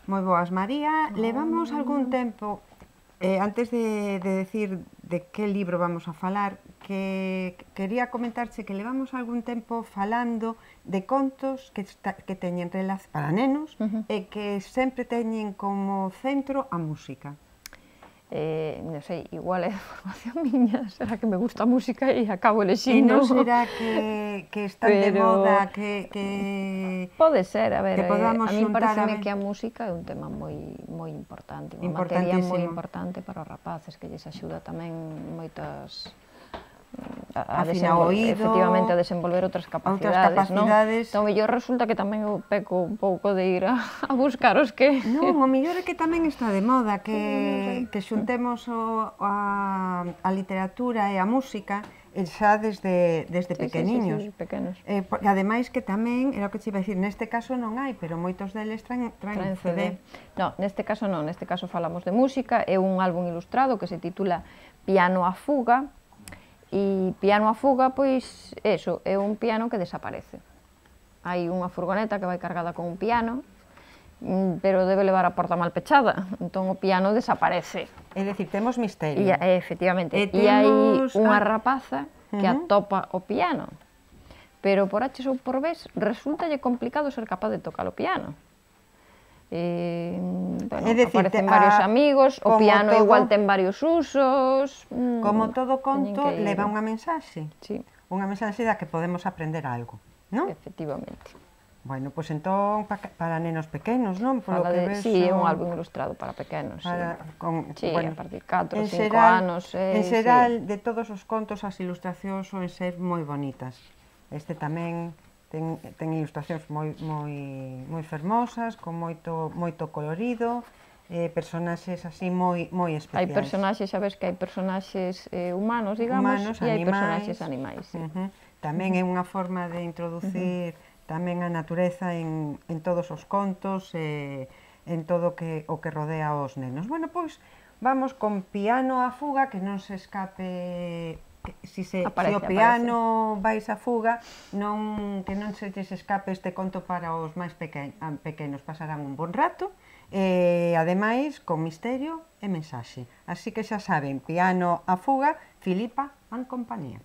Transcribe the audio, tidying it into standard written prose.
Moi boas, María. Levamos algún tempo, antes de decir de que libro vamos a falar, que quería comentarche que levamos algún tempo falando de contos que teñen relación para nenos e que sempre teñen como centro a música. Non sei, igual é formación miña, será que me gusta a música e acabo E elexindo. non será que están de moda, que pode ser, a ver, a min pareceme que a música é un tema moi importante, unha materia moi importante para os rapaces, que lles axuda tamén moitas afinar o oído, efectivamente a desenvolver outras capacidades, non? Entón, mellor resulta que tamén eu peco un pouco de ir a buscar os que... Non, o mellor é que tamén está de moda, que xuntemos a literatura e a música xa desde pequeniños. Sí, pequenos. Ademais que tamén, era o que te iba a dicir, neste caso non hai, pero moitos deles traen CD. Non, neste caso non, neste caso falamos de música, é un álbum ilustrado que se titula Piano a fuga, e Piano a fuga, pois, eso, é un piano que desaparece. Hai unha furgoneta que vai cargada con un piano, pero debe levar a porta mal pechada, entón o piano desaparece. É dicir, temos misterio. Efectivamente, e hai unha rapaza que atopa o piano, pero por H ou por B resultalle complicado ser capaz de tocar o piano. Aparecen varios amigos, o piano igual ten varios usos... Como todo conto, leva unha mensaxe. Sí. Unha mensaxe da que podemos aprender algo, non? Efectivamente. Bueno, pois entón, para nenos pequenos, non? Sí, é un álbum ilustrado para pequenos. Sí, a partir de 4 ou 5 anos. En xeral, de todos os contos, as ilustracións soen ser moi bonitas. Este tamén ten ilustracións moi fermosas, con moito colorido, personaxes así moi especiais. Hai personaxes, sabes que hai personaxes humanos, digamos, e hai personaxes animais. Tamén é unha forma de introducir tamén a natureza en todos os contos, en todo o que rodea aos nenos. Bueno, pois, vamos con Piano a fuga, que non se escape... Si o piano vais a fuga, que non se lles escape este conto para os máis pequenos, pasarán un bon rato, e ademais con misterio e mensaxe. Así que xa saben, Piano a fuga, Filipa and compañía.